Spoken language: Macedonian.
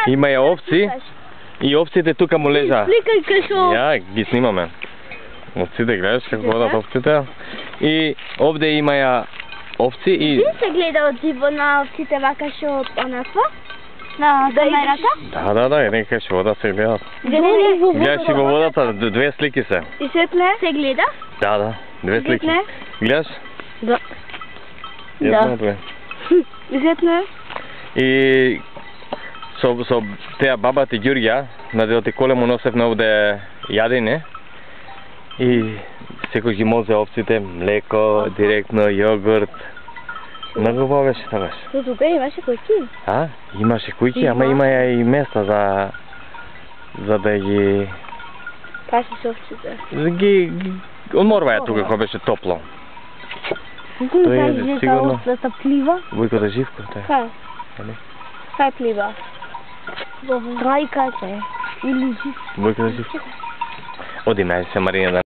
Има ја овци и овците тука му лежа. Ја, ги снимаме. Овците, гледаш како водат овците. И овде има ја овци и... Ти се гледа од диво на овците вака шо онаква? На камерата? Да, нека шо вода се гледат. Гледаш и во водата, две слики се. И светле? Се гледа? Да, две слики. Гледаш? Да. Јасно две. И светле? И со теа бабата Ѓурѓа, на деоти коле му носевме овде јадење. И секој ги мозе овците, млеко, директно, јогурт. Многу убаво беше тогаш. Но тука имаше куќи? Имаше куќи, ама има ја и места за да ги... Пасиш овците? Ги одморваја тука кога беше топло. Тоа е сигурно. Овцата плива? Војката Живко, тоа. Кај? Кај плива? Во трајката или Живко? Војката Живко. Оди најде се Марина да